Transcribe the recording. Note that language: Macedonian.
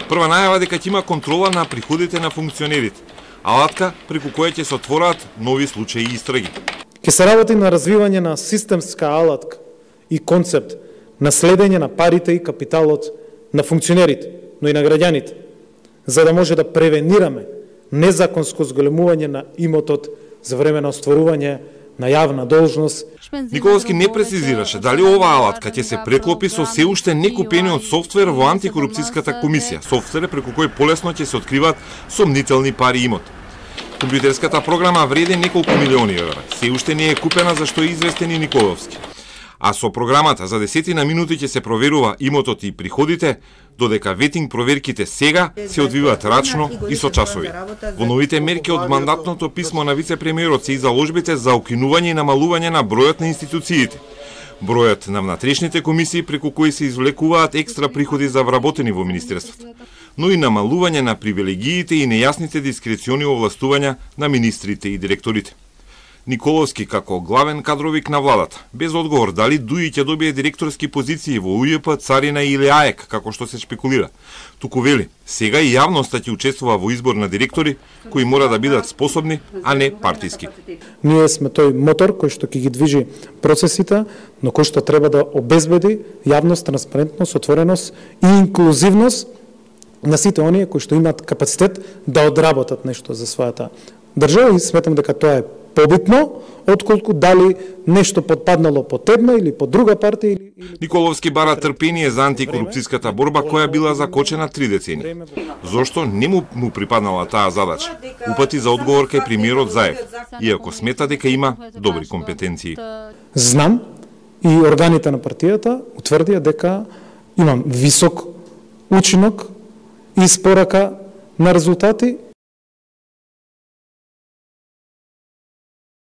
Прва најава дека ќе има контрола на приходите на функционерите, алатка преку која ќе се отвораат нови случаи и истраги. Ќе се работи на развивање на системска алатка и концепт на следење на парите и капиталот на функционерите, но и на граѓаните, за да може да превенираме незаконско зголемување на имотот за време на остварување на јавна должност. Николовски не прецизираше дали оваа алатка ќе се преклопи со се уште некупениот софтвер во антикорупцијската комисија, софтвер преку кој полесно ќе се откриваат сомнителни пари имот. Компјутерската програма вреди неколку милиони евра, се уште не е купена за што е известен и Николовски. А со програмата за 10 минути ќе се проверува имотот и приходите, додека ветинг проверките сега се одвиваат рачно и со часови. Во новите мерки од мандатното писмо на вице-премиерот се и заложбите за укинување и намалување на бројот на институциите. Бројот на внатрешните комисии преку кои се извлекуваат екстра приходи за вработени во министерството, но и намалување на привилегиите и нејасните дискрециони овластувања на министрите и директорите. Николовски како главен кадровик на владата, без одговор дали Дуи ќе добие директорски позиции во УЈП, Царина или АЕК, како што се шпекулира. Туку вели, сега и јавноста ќе учествува во избор на директори кои мора да бидат способни, а не партиски. Ние сме тој мотор кој што ќе ги движи процесите, но кој што треба да обезбеди јавност, транспарентност, отвореност и инклузивност на сите оние кои што имаат капацитет да одработат нешто за својата држава, и сметам дека тоа е побитно, отколку дали нешто подпаднало под една или под друга партија. Николовски бара трпение за антикорупцијската борба која била закочена 3 децени. Зошто не му припаднала таа задача? Упати за одговор кај премиерот Заев, иако смета дека има добри компетенции. Знам и органите на партијата утврдија дека имам висок учинок и испорака на резултати